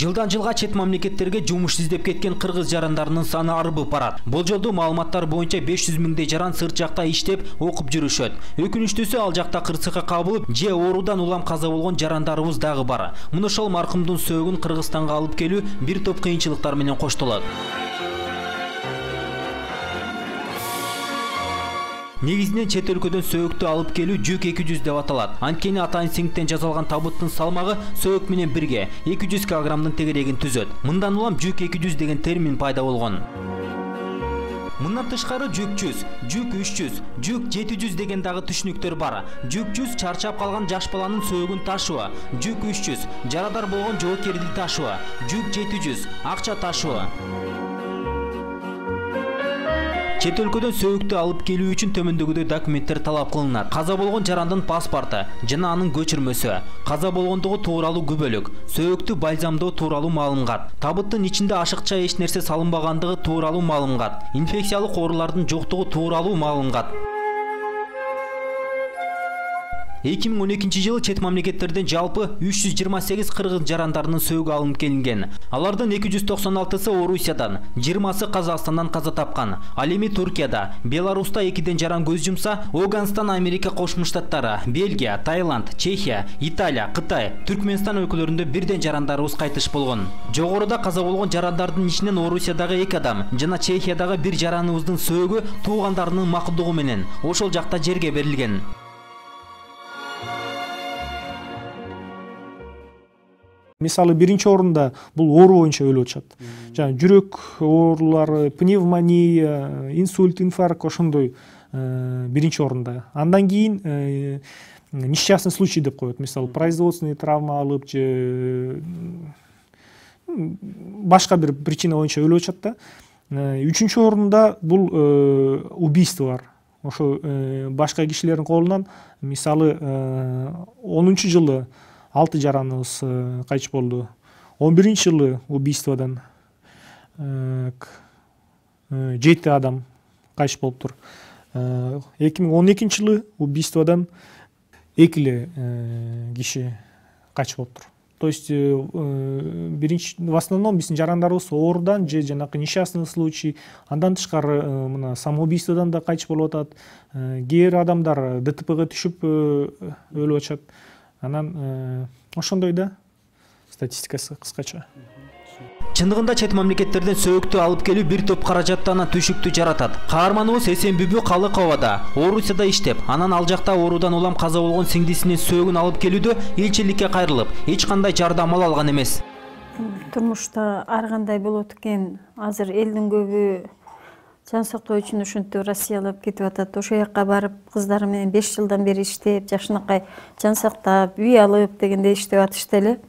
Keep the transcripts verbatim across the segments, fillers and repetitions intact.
Жылдан жылга чет мамлекеттерге жумуш издеп кеткен кыргыз жарандарынын саны арбып барат. Болжолдуу маалыматтар боюнча беш жүз миңдей жаран сырт жакта иштеп, окуп жүрүшөт. Өкүнүчтүүсү ал жакта кырсыкка кабылып, же оорудан улам каза болгон жарандарыбыз дагы бар. Мына ошол маркумдун сөөгүн Кыргызстанга алып келүү бир топ кыйынчылыктар менен коштолот. Негизинен чет өлкөдөн сөөгүктү алып келүү жүк эки жүз деп аталат. Анткени атайын сиңиктен жасалган табыттын салмагы сөөгүк менен бирге эки жүз килограммдын тегерегин түзөт. Мындан улам жүк эки жүз деген термин пайда болгон. Мындан тышкары жүк жүз, жүк үч жүз, жүк жети жүз деген дагы түшүнүктөр бар. Жүк жүз чарчап калган жаш баланын сөөгүн ташуу, жүк үч жүз жарадар болгон жоокерди ташуу, жүк жети жүз акча ташуу. Чет өлкөдөн сөөгүктү алып келүү үчүн төмөндөгүдөй документтер талап кылынат. Каза болгон жарандын паспорту жана анын көчүрмөсү, каза болгондугу тууралуу күбөлүк, сөөгүктү бальзамдоо тууралуу маалымат, табыттын ичинде ашыкча эч нерсе салынбагандыгы тууралуу маалымат, инфекциялык оорулардын жоктугу тууралуу маалымат. эки миң он экинчи жылы чет мамлекеттерден жалпы үч жүз жыйырма сегиз кыргыз жарандарынын сөөгү алынып келинген. Алардын эки жүз токсон алтысы Орусиядан, жыйырмасы Казакстандан каза тапкан. Ал эми Туркияда, Беларуста экиден жаран көз жумса, Афганистан, Америка Кошмо Штаттары, Бельгия, Таиланд, Чехия, Италия, Кытай, Түркмөнстан өлкөлөрүндө бирден жарандарыбыз кайтыш болгон. Жогоруда каза болгон жарандардын ичинен Орусиядагы эки адам жана Чехиядагы бир жараныбыздын сөөгү туугандарынын макулдугу менен ошол жакта жерге берилген. Мисалы биринчи орунда бул оору боюнча өлүп атышат. Жана жүрөк оорулары, пневмония, инсульт, инфаркт ошондой биринчи орунда. Андан кийин несчастный случай деп коет. Мисалы производственный травма алып же башка бир причина боюнча өлүп атышат да. Үчүнчү орунда бул убийстволор. Ошо башка кишилердин колунан, мисалы онунчу жылы алты жараныбыз кайтыш болду. он биринчи жылы убийстводан жети адам кайтыш болуптур. эки миң он экинчи жылы убийстводан эки эле киши кайтыш болуптур. То есть биринчи в основном биздин жарандарыбыз оорудан же жанакы несчастный случай, андан тышкары мына самоубийстводан да кайтыш болуп атат. Кээ бир адамдар ДТПга түшүп өлүп атышат. Анан ошондой да статистикасы кыскача. Чындыгында чет мамлекеттерден сөөгүктү алып келүү бир топ каражаттан түшүктү жаратат. Каарманыбыз Эсенбүбү Калыковада Орусияда иштеп, анан ал жакта оорудан улам каза болгон сиңдисинин сөөгүн алып келүүдө элчиликке кайрылып, эч кандай жардам ала алган эмес. Турмушта ар кандай болот экен. Азыр элдин көбү жан сактоо үчүн ушинтип Россиялап кетип атат. Ошол жака барып, кыздары менен беш жылдан бери иштеп, жашынакай жан сактап, үй алып дегенде иштеп атышты эле.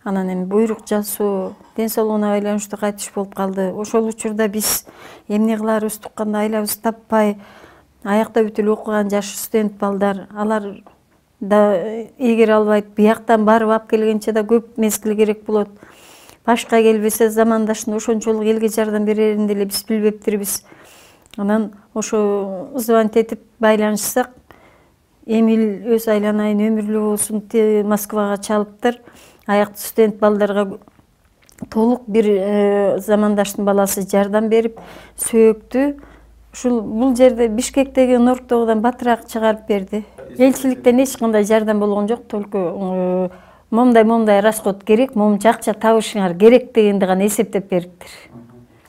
Анан эми буйрук жасоо, ден соолугуна байланыштуу кайтыш болуп калды. Ошол учурда биз эмне кыларыбыз тукканда айлабыз таппай, аякта бүт эле окуган жаш студент балдар, алар да эгер албайт, бияктан барып алып келгенче да көп мезгил керек болот. Башка келбесе замандаштын ошончолук элге жардам берерин деле биз билбептирбиз. Анан ошо звонить этип байланышсак, Эмил өз айланайын өмүрлүү болсун деп Москвага чалыптыр. Аякты студент балдарга толук бир замандаштын баласы жардам берип, сөөгүктү ушул бул жерде Бишкектеги Норктогудан батыраак чыгарып берди. Элчиликтен эч кандай жардам болгон жок, только момдай момдай расход керек, момунча акча табышыңар керек дегенди гана эсептеп бериптир.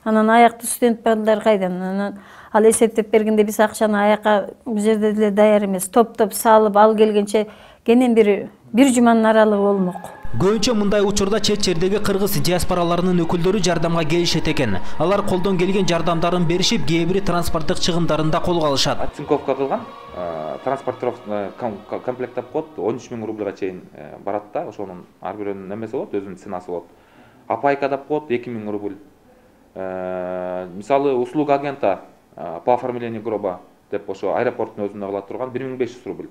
Анан аякты студент балдар кайдан? Анан ал эсептеп бергенде биз акчаны аякка бул жерде деле даяр эмес. Топ-топ салып ал келгенче кенен бир бир жуманын аралыгы болмок. Көбүнчө мындай учурда чет жердеги кыргыз диаспораларынын өкүлдөрү жардамга келишет экен. Алар колдон келген жардамдарын беришип, кээ бири транспорттук чыгымдарын да колго алышат. Оцинковка кылган, транспортировка комплектеп коет, он үч миң рубльга чейин барат да, ошонун ар бирөөнүн немеси болот, өзүнүн ценасы болот. Апайка деп коет эки миң рубль. Мисалы услуга агента по оформлению гроба деп ошо аэропорттун өзүндө кыла турган бир миң беш жүз рубль.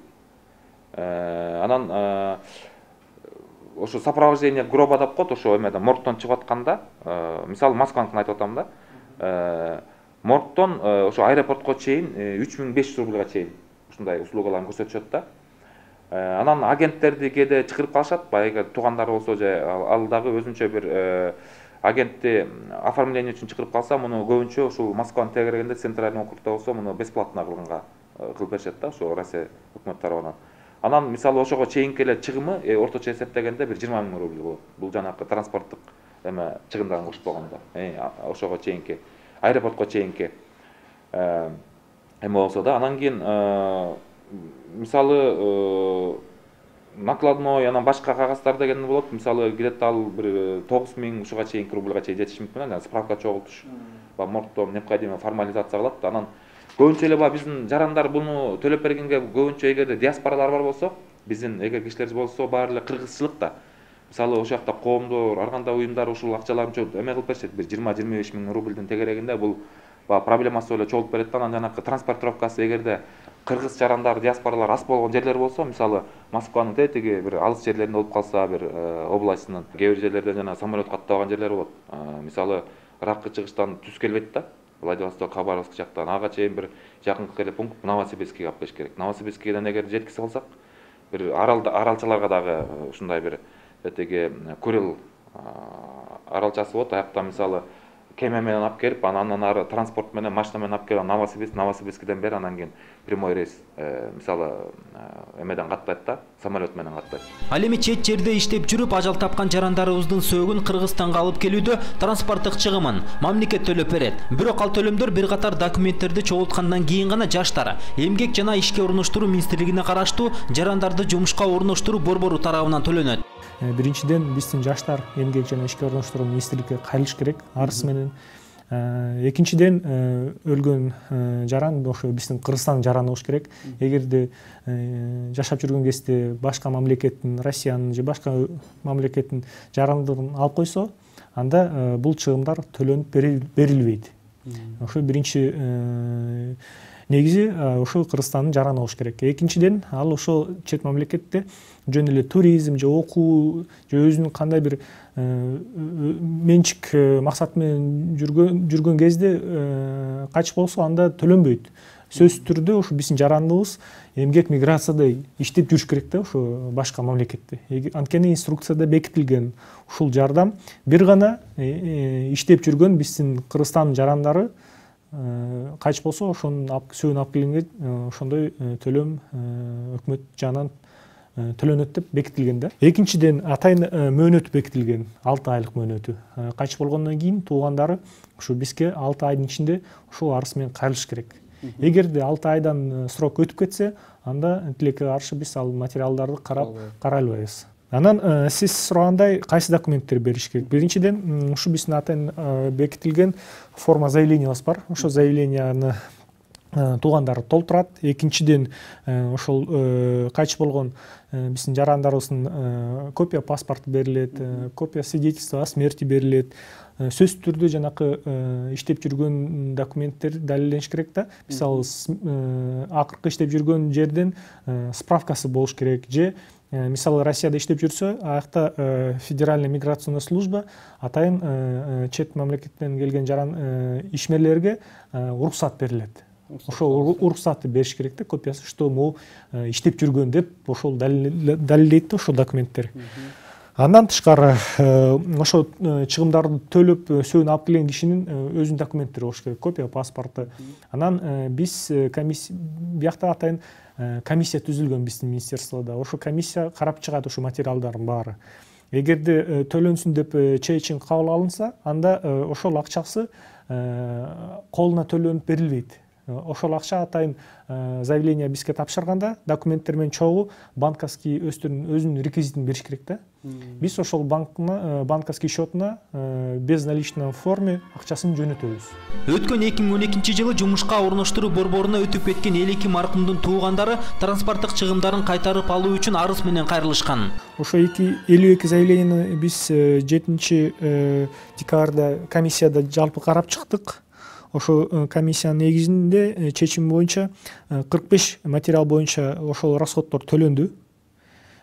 Анан ошо сопровождение гроба деп коет, ошо эмеден моргтон чыгып атканда, мисалы Москваныкын айтып атам да. Моргтон ошо аэропортко чейин үч миң беш жүз рубльга чейин ушундай услугаларын көрсөтүшөт да. Анан агенттерди кээде чакырып калышат, баягы туугандары болсо же ал дагы өзүнчө бир агентти оформление үчүн чакырып калса, муну көбүнчө ушул Москванын тегерегинде центральный округда болсо муну бесплатно кылганга кылып беришет да, ошо Россия өкмөтү тарабынан. Анан мисалы ошого чейинки эле чыгымы орточо эсептегенде бир жыйырма миң рубль болот. Бул жанакы транспорттук эме чыгымдарын кошпогондо. Ошого чейинки аэропортко чейинки эме болсо да, анан кийин мисалы накладной, анан башка кагаздар деген болот. Мисалы где-то ал бир тогуз миң ушуга чейинки рубльга чейин жетиши мүмкүн. Анан справка чогултуш, моргто необходимо формализация кылат. Анан көбүнчө эле баягы биздин жарандар буну төлөп бергенге көбүнчө эгерде диаспоралар бар болсо, биздин эгер кишилер болсо баары эле кыргызчылык да. Мисалы ошол жакта коомдор, ар кандай уюмдар ушул акчаларын эме кылып беришет. Бир жыйырма жыйырма беш миң рубльдин тегерегинде бул баягы проблемасы эле чогулуп берет да. Анан жанакы транспортировкасы эгерде кыргыз жарандар, диаспоралар аз болгон жерлер болсо, мисалы Москванын тетиги бир алыс жерлеринде болуп калса, бир областынын кээ бир жерлерден жана самолет каттабаган жерлер болот. Мисалы Ракы чыгыштан түз келбейт да. Владивосток, Хабаровск жактан ага чейин бир жакынкы эле пункт Новосибирскке алып келиш керек. Новосибирскеден эгер жеткизе алсак, бир аралчаларга дагы ушундай бир тетиги Курил аралчасы болот. Аякта мисалы кеме менен алып келип, анан ары транспорт менен, машина менен алып келип, Новосибирск, Новосибирскиден бери анан кийин прямой рейс мисалы эмеден каттайт да, самолет менен каттайт. Ал эми чет жерде иштеп жүрүп ажал тапкан жарандарыбыздын сөөгүн Кыргызстанга алып келүүдө транспорттук чыгымын мамлекет төлөп берет. Бирок ал төлөмдөр бир катар документтерди чогулткандан кийин гана жаштар Эмгек жана ишке орноштуруу министрлигине караштуу жарандарды жумушка орноштуруу борбору тарабынан төлөнөт. Биринчиден биздин жаштар эмгек жана ишке орноштуруу министрликке кайрылыш керек арыз менен. Экинчиден өлгөн жаран ошо биздин Кыргызстандын жараны болуш керек. Эгерде жашап жүргөн кезде башка мамлекеттин, Россиянын же башка мамлекеттин жарандыгын алып койсо, анда бул чыгымдар төлөнүп берилбейт. Ошо биринчи негизи ошо Кыргызстандын жараны болуш керек. Экинчиден ал ошо чет мамлекетте жөн эле туризм же окуу же өзүнүн кандай бир менчик максат менен жүргөн жүргөн кезде качып болсо, анда төлөнбөйт. Сөзсүз түрдө ошо биздин жарандыбыз эмгек миграцияда иштеп жүрүш керек да, ошо башка мамлекетте. Анткени инструкцияда бекитилген ушул жардам бир гана иштеп жүргөн биздин Кыргызстандын жарандары качып болсо, ошонун сөөгүн алып келгенге ошондой төлөм өкмөт жанынан төлөнөт деп бекитилген да. Экинчиден атайын мөөнөт бекитилген, алты айлык мөөнөтү. Качып болгондон кийин туугандары ушу бизге алты айдын ичинде ушул арыз менен кайрылыш керек. Эгерде алты айдан срок өтүп кетсе, анда тилекке каршы биз ал материалдарды карап карай албайбыз. Анан сиз сурагандай кайсы документтер бериш керек? Биринчиден ушу биздин атайын бекитилген форма заявленияыбыз бар. Ошо заявленияны туугандары толтурат. Экинчиден ошол кайчып болгон биздин жарандарыбыздын копия паспорту берилет, копия свидетельства о смерти берилет. Сөзсүз түрдө жанакы иштеп жүргөн документтер далилдениш керек да. Мисалы акыркы иштеп жүргөн жерден справкасы болуш керек же мисалы Россияда иштеп жүрсө, аякта федеральная миграционная служба атайын чет мамлекеттен келген жаран ишмерлерге уруксат берилет. Ошол уруксатты бериш керек да, копиясы, что могу иштеп жүргөн деп ошол далилдейт да ошол документтер. Андан тышкары ошо чыгымдарды төлөп сөөгүн алып келген кишинин өзүнүн документтери болуш керек, копия паспорту. Анан биз комиссия биякта атайын комиссия түзүлгөн биздин министерстводо. Ошо комиссия карап чыгат ошо материалдардын баары. Эгерде төлөнсүн деп чечим кабыл алынса, анда ошол акчасы колуна төлөнүп берилбейт. Ошол акча атайын заявление бизге тапшырганда документтер менен чогуу банковский өзүнүн реквизитин бериш керек да. Биз ошол банкына, банковский счетуна безналичный форме акчасын жөнөтөбүз. Өткөн эки миң он экинчи жылы жумушка орноштуруу борборуна өтүп кеткен эл эки маркумдун туугандары транспорттук чыгымдарын кайтарып алуу үчүн арыз менен кайрылышкан. Ошо элүү эки заявленияны биз жетинчи декабрда комиссияда жалпы карап чыктык. Ошо комиссиянын негизинде чечим боюнча кырк беш материал боюнча ошол расходдор төлөндү.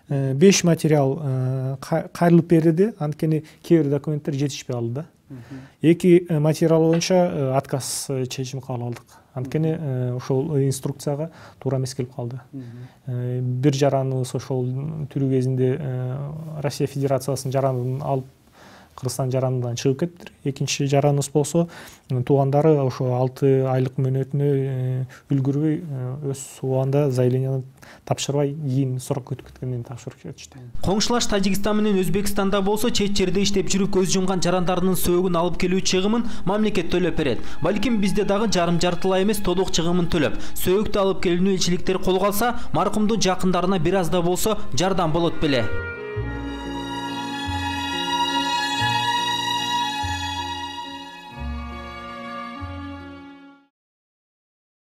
беш материал кайрылып берилди, анткени кээ бир документтер жетишпей калды да. эки материал боюнча отказ чечими кабыл алдык. Анткени ошол инструкцияга туура эмес келип калды. Бир жараныбыз ошол түрүү кезинде Россия Федерациясынын жаранын алып Кыргызстан жаранынан чыгып кетти. Экинчи жараныбыз болсо туугандары ошо алты айлык мөөнөтүнө үлгүрбөй өз убагында заявленияны тапшырбай кийин срок өтүп кеткенден тапшырып кетишти. Коңшулаш Тажикстан менен Өзбекстанда болсо чет жерде иштеп жүрүп көз жумган жарандарынын сөөгүн алып келүү чыгымын мамлекет төлөп берет. Балким бизде дагы жарым жартылай эмес толук чыгымын төлөп, сөөгүктү алып келүүнү элчиликтер колго алса, маркумдун жакындарына бир аз да болсо жардам болот беле.